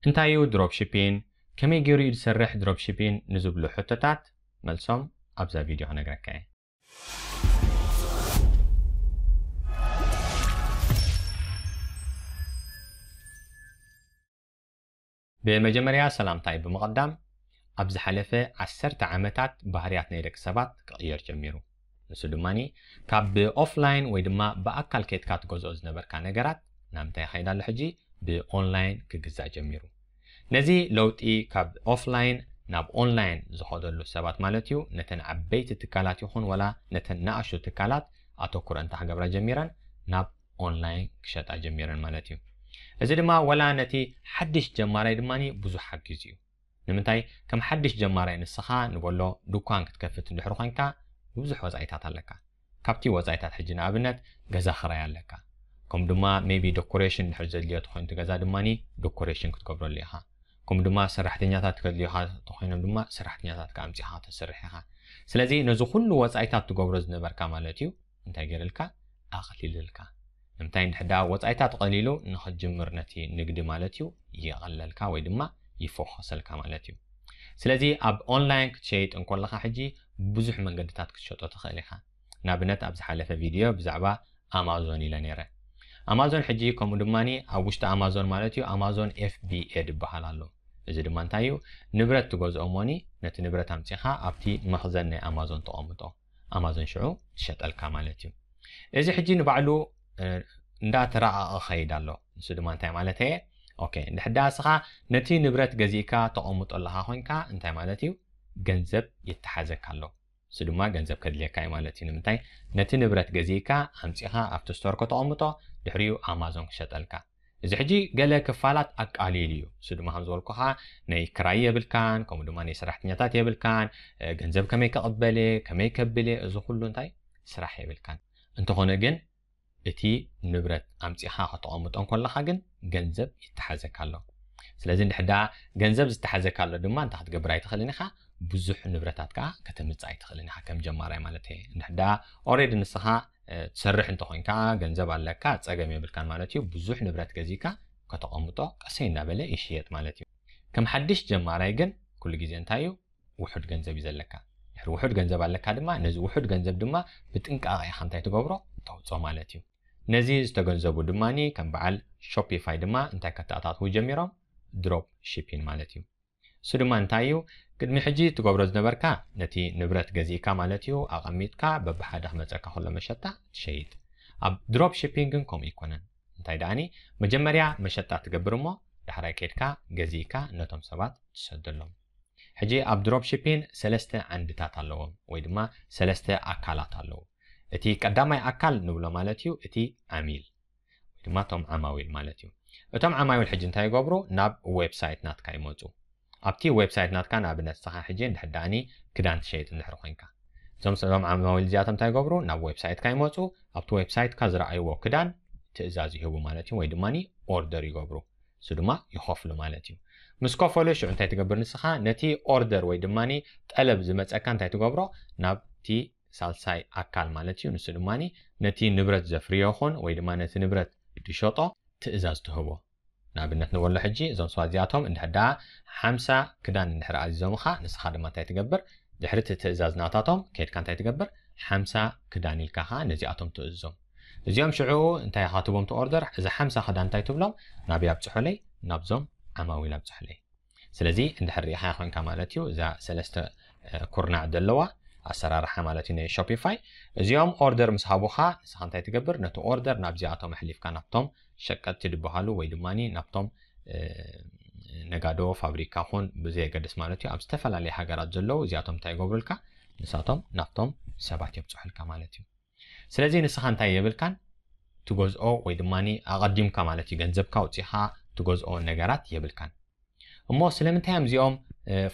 እንታይ እዩ ድሮፕ ሺፒን? ከመይ ገይሩ እዩ ዝሰርሕ ድሮፕ ሺፒን ንዝብሉ ሕቶታት መልሶም ኣብዛ ቪድዮ ክነግረካ እየ። ብመጀመርያ ሰላምታይ ብምቕዳም፣ ኣብ ዝሓለፈ ዓሰርተ ዓመታት ባህርያት ናይ ደቂ ሰባት ክቕየር ጀሚሩ። ንሱ ድማ ካብ ብኦፍላይን ወይ ድማ ብኣካል ከይድካ ትገዝኦ ዝነበርካ ነገራት ናብ እንታይ ይኸይድ ኣሎ ሕጂ? ብኦንላይን ክግዛእ ጀሚሩ። ነዚ ለውጢ ካብ ኦፍላይን ናብ ኦንላይን ዝኸደሉ ሰባት ማለት እዩ፣ ነተን ዓበይቲ ትካላት ይኹን ወላ ነተን ንኣሽቱ ትካላት ኣተኩሮ እንታ ክገብራ ጀሚረን ናብ ኦንላይን ክሸጣ ጀሚረን ማለት እዩ። እዚ ድማ ወላ ነቲ ሓድሽ ጀማራይ ድማ ብዙሕ ሓጊዙ እዩ። ንምንታይ? ከም ሓድሽ ጀማራይ ንስኻ ንበሎ ድኳን ክትከፍት እንድሕር ኮይንካ ብዙሕ ወፃኢታት ኣለካ። ካብቲ ወፃኢታት ሕጂ ንኣብነት ገዛ ክራይ ኣለካ። ከም ድማ ሜቢ ዶኮሬሽን እንድሕር ዘድልዮ ተኮይኑ እቲ ገዛ ድማ ዶኮሬሽን ክትገብረሉ ኢኻ። ከም ድማ ሰራሕተኛታት ከድልዮኻ ተኮይኖም ድማ ሰራሕተኛታት ኣምፂኻ ተሰርሕ ኢኻ። ስለዚ ነዚ ኩሉ ወፃኢታት ትገብሮ ዝነበርካ ማለት እዩ እንታይ ገይርልካ? ኣቕሊልልካ። ንምንታይ? እንድሕር ደኣ ወፃኢታት ቀሊሉ ንኽትጅምር ነቲ ንግዲ ማለት እዩ ይቐለልካ ወይ ድማ ይፎኸሰልካ ማለት እዩ። ስለዚ ኣብ ኦንላይን ክትሸይጥ እንከለኻ ሕጂ ብዙሕ መንገድታት ክትሸጦ ትኽእል ኢኻ። ንኣብነት ኣብ ዝሓለፈ ቪድዮ ብዛዕባ ኣማዞን ኢለ ነይረ። ኣማዞን ሕጂ ከምኡ ድማ ኣብ ውሽጢ ኣማዞን ማለት እዩ ኣማዞን ኤፍ ቢ ኤ ዝበሃል ኣሎ። እዚ ድማ እንታይ እዩ? ንብረት ትገዝኦ እሞኒ ነቲ ንብረት ኣምፂኻ ኣብቲ መኽዘን ናይ ኣማዞን ተቐምጦ፣ ኣማዞን ሽዑ ትሸጠልካ ማለት እዩ። እዚ ሕጂ ንባዕሉ እንዳተራቐቐ ኸይድ ኣሎ። ንሱ ድማ እንታይ ማለት እየ? ኦኬ፣ እንድሕዳ እስኻ ነቲ ንብረት ገዚእካ ተቐምጦ ኣለኻ ኮይንካ እንታይ ማለት እዩ? ገንዘብ ይተሓዘካ ኣሎ። እሱ ድማ ገንዘብ ከድልየካ እዩ ማለት እዩ። ንምንታይ? ነቲ ንብረት ገዚእካ ኣምፂኻ ኣብቲ ስቶር ከተቐምጦ፣ ድሕሪኡ ኣማዞን ክሸጠልካ። እዚ ሕጂ ገለ ክፋላት ኣቃሊሉ እዩ። እሱ ድማ ከም ዝበልኩኻ ናይ ክራይ የብልካን፣ ከምኡ ድማ ናይ ሰራሕተኛታት የብልካን፣ ገንዘብ ከመይ ከቕበል እየ፣ ከመይ ከብል እየ፣ እዚ ኩሉ እንታይ ስራሕ የብልካን። እንተኾነ ግን እቲ ንብረት ኣምፂኻ ከተቐምጦ እንከለኻ ግን ገንዘብ ይተሓዘካ ኣሎ። ስለዚ እንድሕዳ ገንዘብ ዝተሓዘካ ኣሎ ድማ እንታይ ክትገብር ኣይትኽእልን ኢኻ፣ ብዙሕ ንብረታት ከዓ ከተምፅእ ኣይትኽእልን ኢኻ ከም ጀማራይ ማለት እየ። እንድሕዳ ኦሬዲ ንስኻ ትሰርሕ እንተኾይንካ ገንዘብ ኣለካ ፀገም የብልካን ማለት እዩ። ብዙሕ ንብረት ገዚእካ ከተቐምጦ ቀሰይ እናበለ ይሽየጥ ማለት እዩ። ከም ሓድሽ ጀማራይ ግን ኩሉ ግዜ እንታይ እዩ ውሑድ ገንዘብ እዩ ዘለካ። ድሕሪ ውሑድ ገንዘብ ኣለካ ድማ ነዚ ውሑድ ገንዘብ ድማ ብጥንቃቐ ኢኻ እንታይ ትገብሮ ተውፅኦ ማለት እዩ። ነዚ ዝተገንዘቡ ድማ ከም በዓል ሾፒፋይ ድማ እንታይ ከተኣታትዉ ጀሚሮም? ድሮፕ ሺፒን ማለት እዩ። እሱ ድማ እንታይ እዩ? ቅድሚ ሕጂ ትገብሮ ዝነበርካ ነቲ ንብረት ገዚእካ ማለት እዩ ኣቐሚጥካ በብሓደ ክመፀካ ከሎ መሸጣ ትሸይጥ። ኣብ ድሮፕ ሺፒን ግን ከምኡ ኣይኮነን። እንታይ ደኣኒ መጀመርያ መሸጣ ትገብር እሞ ዳሕራይ ከይድካ ገዚእካ ነቶም ሰባት ትሰደሎም። ሕጂ ኣብ ድሮፕ ሺፒን ሰለስተ ዓንድታት ኣለዎም ወይ ድማ ሰለስተ ኣካላት ኣለዉ። እቲ ቀዳማይ ኣካል ንብሎ ማለት እዩ እቲ ዓሚል ወይ ድማ እቶም ዓማዊል ማለት እዩ። እቶም ዓማዊል ሕጂ እንታይ ይገብሩ? ናብ ዌብሳይት ናትካ ይመፁ። ኣብቲ ዌብሳይት ናትካ ንኣብነት ንስኻ ሕጂ እንድሕር ደኣኒ ክዳን ትሸይጥ እንድሕር ኮይንካ እዞም እዞም ዓማዊል እዚኣቶም እንታይ ይገብሩ? ናብ ዌብሳይትካ ይመፁ። ኣብቲ ዌብሳይትካ ዝረኣይዎ ክዳን ትእዛዝ ይህቡ ማለት እዩ ወይ ድማ ኦርደር ይገብሩ። እሱ ድማ ይኸፍሉ ማለት እዩ። ምስ ከፈሉ ሽዑ እንታይ ትገብር ንስኻ? ነቲ ኦርደር ወይ ድማ ጠለብ ዝመፀካ እንታይ ትገብሮ? ናብቲ ሳልሳይ ኣካል ማለት እዩ። ንሱ ድማ ነቲ ንብረት ዘፍርዮ ይኹን ወይ ድማ ነቲ ንብረት ዝሸጦ ትእዛዝ ትህቦ። ንኣብነት ንበሎ ሕጂ እዞም ሰባት እዚኣቶም እንድሕር ደኣ ሓምሳ ክዳን እንድሕር ኣዚዞምኻ ንስኻ ድማ እንታይ ትገብር? ድሕሪ እቲ ትእዛዝ ናታቶም ከይድካ እንታይ ትገብር? ሓምሳ ክዳን ኢልካ ኸዓ ነዚኣቶም ትእዝዞም። እዚኦም ሽዑ እንታይ ኢኻ ትቦም እቲ ኦርደር? እዚ ሓምሳ ክዳን እንታይ ትብሎም? ናበይ ኣብፅሑለይ? ናብዞም ዓማዊል ኣብፅሑለይ። ስለዚ እንድሕር ርኢኻ ኮይንካ ማለት እዩ እዛ ሰለስተ ኩርናዕ ዘለዋ ኣሰራርሓ ማለት እዩ ናይ ሾፒፋይ። እዚኦም ኦርደር ምስ ሃቡኻ ንስኻ እንታይ ትገብር? ነቲ ኦርደር ናብዚኣቶም ኣሕሊፍካ ናብቶም ሸቀጥቲ ዝበሃሉ ወይ ድማ ናብቶም ነጋዶ ፋብሪካ ኹን ብዘየገድስ ማለት እዩ ኣብ ዝተፈላለየ ሃገራት ዘለዉ እዚኣቶም እንታይ ይገብሩልካ? ንሳቶም ናብቶም ሰባት የብፅሑልካ ማለት እዩ። ስለዚ ንስኻ እንታይ የብልካን ትገዝኦ ወይ ድማ ኣቐዲምካ ማለት እዩ ገንዘብካ ኣውፂኻ ትገዝኦ ነገራት የብልካን። እሞ ስለምንታይ እዮም እዚኦም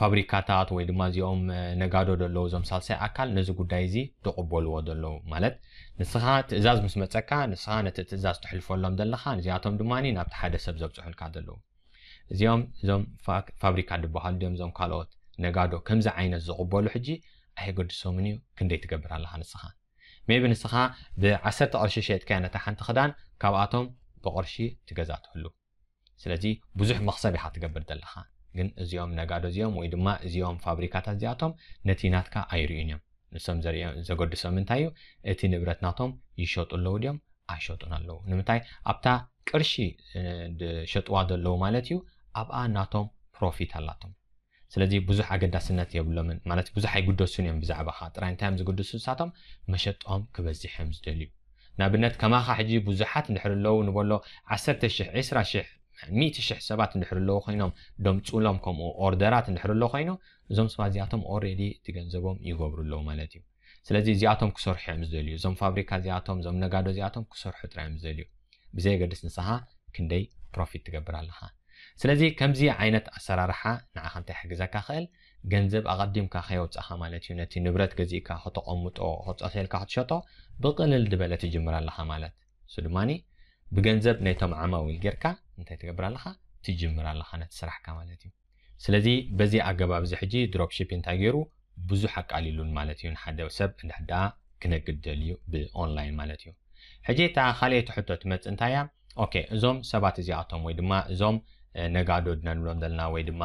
ፋብሪካታት ወይ ድማ እዚኦም ነጋዶ ዘለዉ እዞም ሳልሳይ ኣካል ነዚ ጉዳይ እዚ ዝቕበልዎ ዘለዉ? ማለት ንስኻ ትእዛዝ ምስ መፀካ ንስኻ ነቲ ትእዛዝ ትሕልፈሎም ዘለኻ፣ እዚኣቶም ድማ ናብቲ ሓደ ሰብ ዘብፅሑልካ ዘለዉ እዚኦም እዞም ፋብሪካ ዝበሃሉ ድዮም እዞም ካልኦት ነጋዶ ከምዚ ዓይነት ዝቕበሉ ሕጂ ኣይገድሶምን እዩ። ክንደይ ትገብር ኣለኻ ንስኻ? ሜቢ ንስኻ ብዓሰርተ ቅርሺ ሸጥካያ ነታ ሓንቲ ክዳን ካብኣቶም ብቅርሺ ትገዛ ትህሉ። ስለዚ ብዙሕ መኽሰብ ኢኻ ትገብር ዘለኻ። ግን እዚኦም ነጋዶ እዚኦም ወይ ድማ እዚኦም ፋብሪካታት እዚኣቶም ነቲ ናትካ ኣይርእዩን እዮም። ንሶም ዘርእዮ- ዘገድሶም እንታይ እዩ? እቲ ንብረት ናቶም ይሸጡ ኣለዉ ድዮም ኣይሸጡን ኣለዉ። ንምንታይ? ኣብታ ቅርሺ ዝሸጥዋ ዘለዉ ማለት እዩ፣ ኣብኣ ናቶም ፕሮፊት ኣላቶም። ስለዚ ብዙሕ ኣገዳስነት የብሎምን ማለት ብዙሕ ኣይግደሱን እዮም ብዛዕባኻ። ጥራይ እንታይ እዮም ዝግድሱ ንሳቶም? መሸጦም ክበዝሕ እዮም ዝደልዩ። ንኣብነት ከማኻ ሕጂ ብዙሓት እንድሕር ኣለዉ ንበሎ ዓሰርተ ሽሕ፣ ዕስራ ሽሕ፣ ሚእቲ ሽሕ ሰባት እንድሕር ኣለዉ ኮይኖም ደምፁሎም ከምኡ ኦርደራት እንድሕር ኣለዉ ኮይኑ እዞም ሰባት እዚኣቶም ኦሬዲ እቲ ገንዘቦም ይገብሩ ኣለዉ ማለት እዩ። ስለዚ እዚኣቶም ክሰርሑ እዮም ዝደልዩ። እዞም ፋብሪካ እዚኣቶም እዞም ነጋዶ እዚኣቶም ክሰርሑ ጥራይ እዮም ዝደልዩ። ብዘየገድስ ንስኻ ክንደይ ፕሮፊት ትገብር ኣለኻ። ስለዚ ከምዚ ዓይነት ኣሰራርሓ ንዓኻ እንታይ ሕግዘካ ክእል? ገንዘብ ኣቐዲምካ ከየውፃኻ ማለት እዩ። ነቲ ንብረት ገዚእካ ከተቐምጦ፣ ክፀተልካ ክትሸጦ ብቕልል ዝበለ ትጅምር ኣለኻ ማለት እሱ ድማ ብገንዘብ ነቶም ዓማዊል ጌርካ እንታይ ትገብር ኣለኻ? ትጅምር ኣለኻ ነቲ ስራሕካ ማለት እዩ። ስለዚ በዚ ኣገባብ እዚ ሕጂ ድሮፕ ሺፒንግ እንታይ ገይሩ ብዙሕ ኣቃሊሉን ማለት እዩ። ንሓደ ሰብ እንድሕዳ ክነግድ ደልዩ ብኦንላይን ማለት እዩ። ሕጂ እታ ካልኣይቲ ሕቶ ትመጽእ እንታይ እያ? ኦኬ፣ እዞም ሰባት እዚኣቶም ወይ ድማ እዞም ነጋዶ ድና ንብሎም ዘለና ወይ ድማ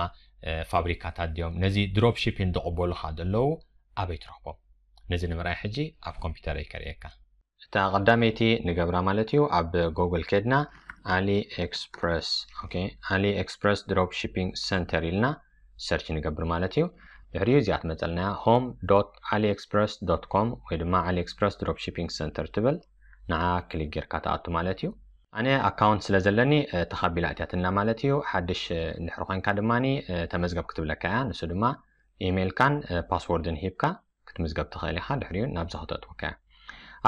ፋብሪካታት ድዮም ነዚ ድሮፕ ሺፒንግ ዝቕበሉኻ ዘለዉ ኣበይ ትረኽቦም? ነዚ ንምርኣይ ሕጂ ኣብ ኮምፒውተረይ ከርእየካ። እታ ቀዳመይቲ ንገብራ ማለት እዩ ኣብ ጎግል ከድና ኣሊ ኤክስፕረስ። ኦኬ፣ ኣሊ ኤክስፕረስ ድሮፕ ሺፒንግ ሰንተር ኢልና ሰርች ንገብር ማለት እዩ። ድሕሪኡ እዚኣ ትመፀልና እያ home dot aliexpress dot com ወይ ድማ AliExpress Dropshipping Center ትብል። ንዓ ክሊክ ጌርካ ትኣቱ ማለት እዩ። ኣነ ኣካውንት ስለ ዘለኒ ተኻቢላ እትያትና ማለት እዩ። ሓድሽ እንድሕር ኮይንካ ድማ ተመዝገብ ክትብለካ እያ። ንሱ ድማ ኢሜይልካን ፓስወርድን ሂብካ ክትምዝገብ ትኽእል ኢኻ። ድሕሪኡ ናብዚ ክተእትወካ እያ።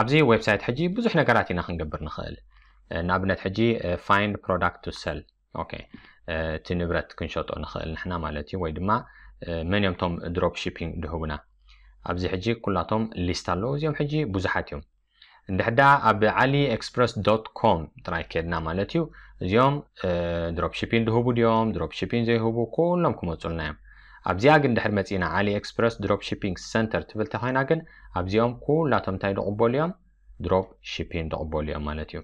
ኣብዚ ዌብሳይት ሕጂ ብዙሕ ነገራት ኢና ክንገብር ንኽእል። ንኣብነት ሕጂ find product to sell፣ ኦኬ፣ እቲ ንብረት ክንሸጦ ንኽእል ንሕና ማለት እዩ። ወይ ድማ መን እዮም ቶም ድሮፕ ሺፒንግ ድህቡና? ኣብዚ ሕጂ ኩላቶም ሊስት ኣለዉ። እዚኦም ሕጂ ብዙሓት እዮም። እንድሕዳ ኣብ AliExpress dot com ጥራይ ከድና ማለት እዩ። እዚኦም ድሮፕ ሺፒንግ ድህቡ ድዮም ድሮፕ ሺፒንግ ዘይህቡ ኩሎም ክመፁልና እዮም። ኣብዚኣ ግን ድሕር መፂና AliExpress Dropshipping Center ትብል ተኮይና ግን ኣብዚኦም ኩላቶም እንታይ ድቕበሉ እዮም? ድሮፕ ሺፒንግ ድቕበሉ እዮም ማለት እዩ።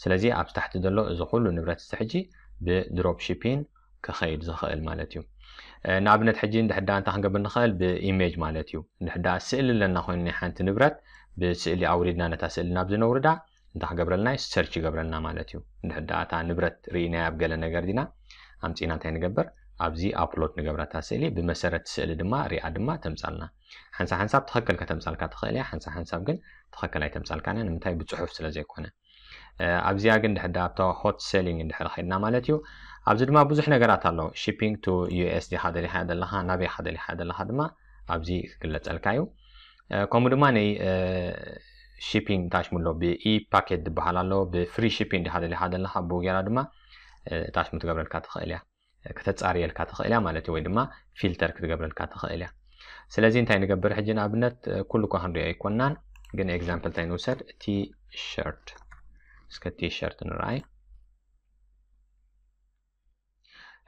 ስለዚ ኣብ ታሕቲ ዘሎ እዚ ኩሉ ንብረት እዚ ሕጂ ብድሮፕ ሺፒንግ ክኸይድ ዝኽእል ማለት እዩ። ንኣብነት ሕጂ እንድሕዳ እንታይ ክንገብር ንኽእል? ብኢሜጅ ማለት እዩ። እንድሕዳ ስእሊ ኣለና ኮይኑ ናይ ሓንቲ ንብረት ብስእሊ ኣውሪድና ነታ ስእሊ ናብ ዝነውርዳ እንታይ ክገብረልና? ሰርች ይገብረልና ማለት እዩ። እንድሕዳ እታ ንብረት ርኢናያ ኣብ ገለ ነገር ዲና ኣምፂና እንታይ ንገብር? ኣብዚ ኣፕሎድ ንገብረታ ስእሊ ብመሰረት ስእሊ ድማ ሪኣ ድማ ተምፃልና። ሓንሳብ ሓንሳብ ትኽክል ከተምፃልካ ትኽእል እያ፣ ሓንሳብ ሓንሳብ ግን ትኽክል ኣይተምፃልካን እያ። ንምንታይ? ብፅሑፍ ስለ ዘይኮነ። ኣብዚኣ ግን ድሕዳ ኣብታ ሆት ሴሊንግ እንድሕር ኸድና ማለት እዩ። ኣብዚ ድማ ብዙሕ ነገራት ኣሎ። ሺፒንግ ቱ ዩ ኤስ ዲኻ ደሊኻ ዘለኻ፣ ናበይ ኢኻ ደሊኻ ዘለኻ ድማ ኣብዚ ክግለፀልካ እዩ። ከምኡ ድማ ናይ ሺፒንግ ታሽሙ ኣሎ፣ ብኢ ፓኬት ዝበሃል ኣሎ። ብፍሪ ሺፒንግ ዲኻ ደሊኻ ዘለኻ ብኡ ጌራ ድማ ታሽሙ ትገብረልካ ትኽእል እያ፣ ከተፃርየልካ ትኽእል እያ ማለት እዩ። ወይ ድማ ፊልተር ክትገብረልካ ትኽእል እያ። ስለዚ እንታይ ንገብር ሕጂ? ንኣብነት ኩሉ እኳ ክንሪኦ ኣይኮናን፣ ግን ኤግዛምፕል እንታይ ንውሰድ? ቲሸርት። እስከ ቲሸርት ንርኣይ።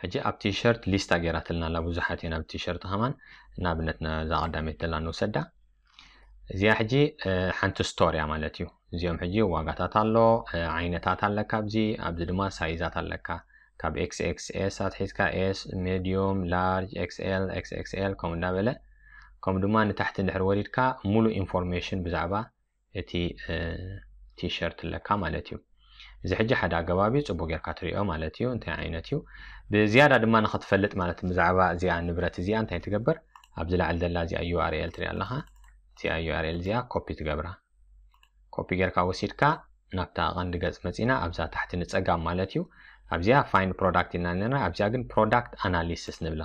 ሕጂ ኣብ ቲሸርት ሊስታ ገይራትልና ኣላ፣ ብዙሓት እየን ኣብ ቲሸርት ከማን። ንኣብነት ነዛ ቀዳመይቲ ዘላ ንውሰዳ። እዚኣ ሕጂ ሓንቲ ስቶር እያ ማለት እዩ። እዚኦም ሕጂ ዋጋታት ኣሎ፣ ዓይነታት ኣለካ ኣብዚ፣ ኣብዚ ድማ ሳይዛት ኣለካ። ካብ ኤክስ ኤክስ ኤስ ኣትሒዝካ ኤስ፣ ሜዲዩም፣ ላርጅ፣ ኤክስ ኤል፣ ኤክስ ኤክስ ኤል ከምኡ እንዳበለ፣ ከምኡ ድማ ንታሕቲ እንድሕር ወሪድካ ሙሉእ ኢንፎርሜሽን ብዛዕባ እቲ ቲሸርት ኣለካ ማለት እዩ። እዚ ሕጂ ሓደ ኣገባብ እዩ፣ ፅቡቅ ጌርካ ትሪኦ ማለት እዩ እንታይ ዓይነት እዩ። ብዝያዳ ድማ ንክትፈልጥ ማለት ብዛዕባ እዚኣ ንብረት እዚኣ እንታይ ትገብር? ኣብዚ ላዕሊ ዘላ እዚኣ ዩ ኣር ኤል ትሪኣ ኣለኻ። እዚኣ ዩ ኣር ኤል እዚኣ ኮፒ ትገብራ። ኮፒ ጌርካ ወሲድካ ናብታ ቀንዲ ገፅ መፂና ኣብዛ ታሕቲ ንፀጋም ማለት እዩ። ኣብዚኣ ፋይንድ ፕሮዳክት ኢልና ነርና፣ ኣብዚኣ ግን ፕሮዳክት ኣናሊሲስ ንብላ።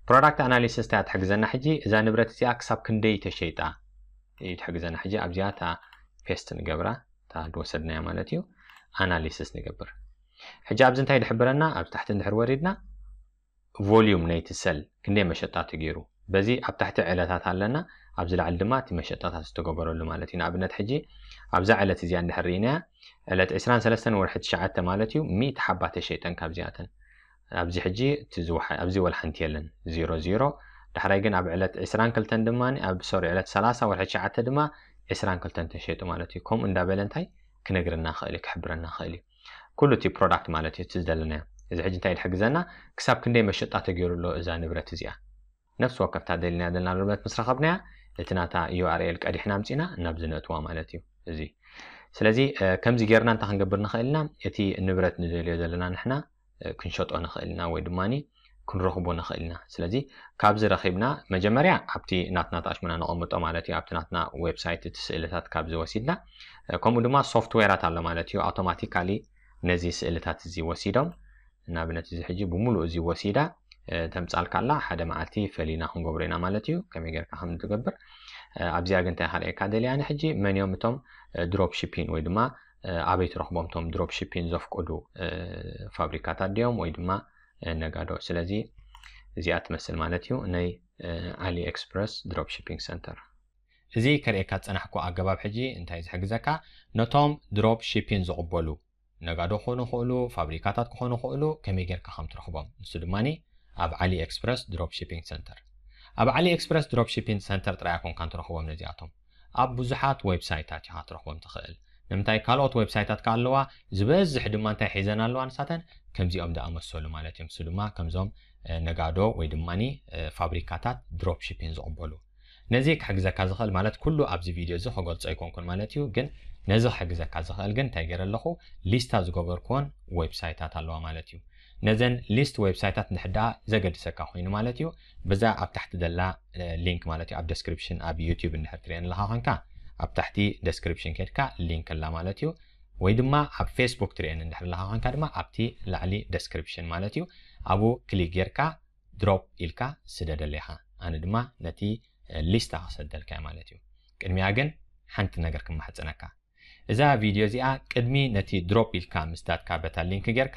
ፕሮዳክት ኣናሊሲስ እንታይ ትሕግዘና? ሕጂ እዛ ንብረት እዚኣ ክሳብ ክንደይ ተሸይጣ እዩ ትሕግዘና። ሕጂ ኣብዚኣ እታ ፔስት ንገብራ፣ እታ ዝወሰድናያ ማለት እዩ፣ ኣናሊሲስ ንገብር። ሕጂ ኣብዚ እንታይ ድሕብረና? ኣብ ታሕቲ እንድሕር ወሪድና ቮሊዩም ናይቲ ሰል ክንደይ መሸጣ ተገይሩ፣ በዚ ኣብ ታሕቲ ዕለታት ኣለና፣ ኣብዚ ላዕሊ ድማ እቲ መሸጣታት ዝተገበረሉ ማለት እዩ። ንኣብነት ሕጂ ኣብዛ ዕለት እዚኣ እንድሕር ርኢናያ፣ ዕለት ዕስራን ሰለስተን ወርሒ ትሽዓተ ማለት እዩ፣ ሚእቲ ሓባ ተሸይጠን ካብዚኣተን። ኣብዚ ሕጂ እቲ ዝወሓ-፣ ኣብዚ ወላ ሓንቲ የለን፣ ዜሮ ዜሮ። ዳሕራይ ግን ኣብ ዕለት ዕስራን ክልተን ድማ፣ ኣብ፣ ሶሪ፣ ዕለት ሰላሳ ወርሒ ትሽዓተ ድማ ዕስራን ክልተን ተሸይጡ ማለት እዩ። ከምኡ እንዳበለ እንታይ ክነግረና ክእል እዩ፣ ክሕብረና ክእል እዩ። ኩሉ እቲ ፕሮዳክት ማለት እዩ፣ እቲ ዝደለናዮ። እዚ ሕጂ እንታይ ድሕግዘና? ክሳብ ክንደይ መሸጣ ተገይሩ ኣሎ እዛ ንብረት እዚኣ? ነፍሲ ወከፍታ ደሊና ዘለና ንብረት ምስ ረኸብናያ፣ እቲ ናታ ዩ ኣር ኤል ቀዲሕና ኣምጺና ናብ ዝነእትዋ ማለት እዩ። እዚ ስለዚ ከምዚ ጌርና እንታይ ክንገብር ንኽእል ኢና? እቲ ንብረት ንደልዮ ዘለና ንሕና ክንሸጦ ንኽእል ኢና ወይ ድማ ክንረኽቦ ንኽእል ኢና። ስለዚ ካብዚ ረኺብና መጀመርያ ኣብቲ ናትና ተኣሽሙና ነቐምጦ ማለት እዩ። ኣብቲ ናትና ዌብሳይት እቲ ስእልታት ካብዚ ወሲድና፣ ከምኡ ድማ ሶፍትዌራት ኣሎ ማለት እዩ። ኣውቶማቲካሊ ነዚ ስእልታት እዚ ወሲዶም፣ ንኣብነት እዚ ሕጂ ብምሉእ እዚ ወሲዳ ተምጻልካ ኣላ። ሓደ መዓልቲ ፈሊና ክንገብሮ ኢና ማለት እዩ፣ ከመይ ጌርካ ከም ትገብር። ኣብዚኣ ግን እንታይ ከርእየካ ደልያ፣ ንሕጂ መን እዮም እቶም ድሮፕ ሺፒን ወይ ድማ ኣበይ ትረኽቦም እቶም ድሮፕ ሺፒን ዘፍቅዱ ፋብሪካታት ድዮም ወይ ድማ ነጋዶ። ስለዚ እዚኣ ትመስል ማለት እዩ፣ ናይ ኣሊ ኤክስፕረስ ድሮፕ ሺፒንግ ሰንተር። እዚ ከርእየካ ዝጸናሕኩ ኣገባብ ሕጂ እንታይ ዝሕግዘካ፣ ነቶም ድሮፕ ሺፒን ዝቕበሉ ነጋዶ ክኾኑ ይኽእሉ፣ ፋብሪካታት ክኾኑ ይኽእሉ፣ ከመይ ጌርካ ከም ትረኽቦም። ንሱ ድማ ኣብ ዓሊ ኤክስፕረስ ድሮፕ ሺፒንግ ሰንተር። ኣብ ዓሊ ኤክስፕረስ ድሮፕ ሺፒንግ ሰንተር ጥራይ ኣይኮንካን ትረኽቦም ነዚኣቶም። ኣብ ብዙሓት ዌብሳይታት ኢኻ ትረኽቦም ትኽእል። ንምንታይ ካልኦት ዌብሳይታት ከ ኣለዋ፣ ዝበዝሕ ድማ እንታይ ሒዘን ኣለዋ ንሳተን፣ ከምዚኦም ዝኣመሰሉ ማለት እዮም። ንሱ ድማ ከምዞም ነጋዶ ወይ ድማ ፋብሪካታት ድሮፕ ሺፒን ዝቕበሉ። ነዚ ክሕግዘካ ዝኽእል ማለት ኩሉ ኣብዚ ቪድዮ እዚ ክገልጾ ኣይኮንኩን ማለት እዩ፣ ግን ነዚ ክሕግዘካ ዝኽእል ግን እንታይ ገይረ ኣለኹ፣ ሊስታ ዝገበርኩዎን ዌብሳይታት ኣለዋ ማለት እዩ። ነዘን ሊስት ዌብሳይታት እንድሕር ደኣ ዘገድሰካ ኮይኑ ማለት እዩ፣ በዛ ኣብ ታሕቲ ዘላ ሊንክ ማለት እዩ፣ ኣብ ደስክሪፕሽን ኣብ ዩቲዩብ እንድሕር ትሪኤን ኣለኻ ኮንካ ኣብ ታሕቲ ደስክሪፕሽን ኬድካ ሊንክ ኣላ ማለት እዩ። ወይ ድማ ኣብ ፌስቡክ ትሪኤን እንድሕር ኣለኻ ኮንካ ድማ ኣብቲ ላዕሊ ደስክሪፕሽን ማለት እዩ፣ ኣብኡ ክሊክ ጌርካ ድሮፕ ኢልካ ስደደለይ ኢኻ። ኣነ ድማ ነቲ ሊስታ ክሰደልካ እየ ማለት እዩ። ቅድሚያ ግን ሓንቲ ነገር ክማሕጸነካ። እዛ ቪድዮ እዚኣ ቅድሚ ነቲ ድሮፕ ኢልካ ምስዳድካ በታ ሊንክ ጌርካ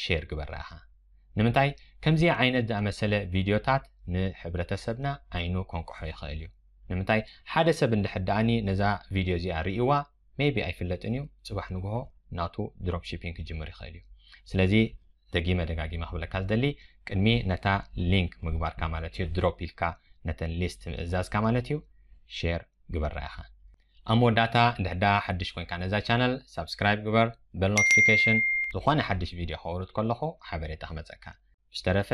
ሼር ግበራ ኢኻ። ንምንታይ ከምዚ ዓይነት ዝኣመሰለ ቪድዮታት ንሕብረተሰብና ዓይኑ ከንቅሖ ይኽእል እዩ። ንምንታይ ሓደ ሰብ እንድሕር ደኣኒ ነዛ ቪድዮ እዚኣ ርእይዋ ሜቢ ኣይፍለጥን እዩ፣ ጽባሕ ንግሆ ናቱ ድሮፕ ሺፒንግ ክጅምር ይኽእል እዩ። ስለዚ ደጊመ ደጋጊመ ክብለካ ዝደሊ ቅድሚ ነታ ሊንክ ምግባርካ ማለት እዩ ድሮፕ ኢልካ ነተን ሊስት ምእዛዝካ ማለት እዩ ሼር ግበራ ኢኻ። ኣብ መወዳእታ እንድሕዳ ሓድሽ ኮንካ ነዛ ቻነል ሳብስክራይብ ግበር፣ በል ኖቲፊኬሽን ዝኾነ ሓድሽ ቪድዮ ከውርድ ከለኹ ሓበሬታ ክመፀካ። ብዝተረፈ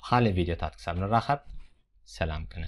ብኻልእ ቪድዮታት ክሳብ ንራኸብ ሰላም ቅነ።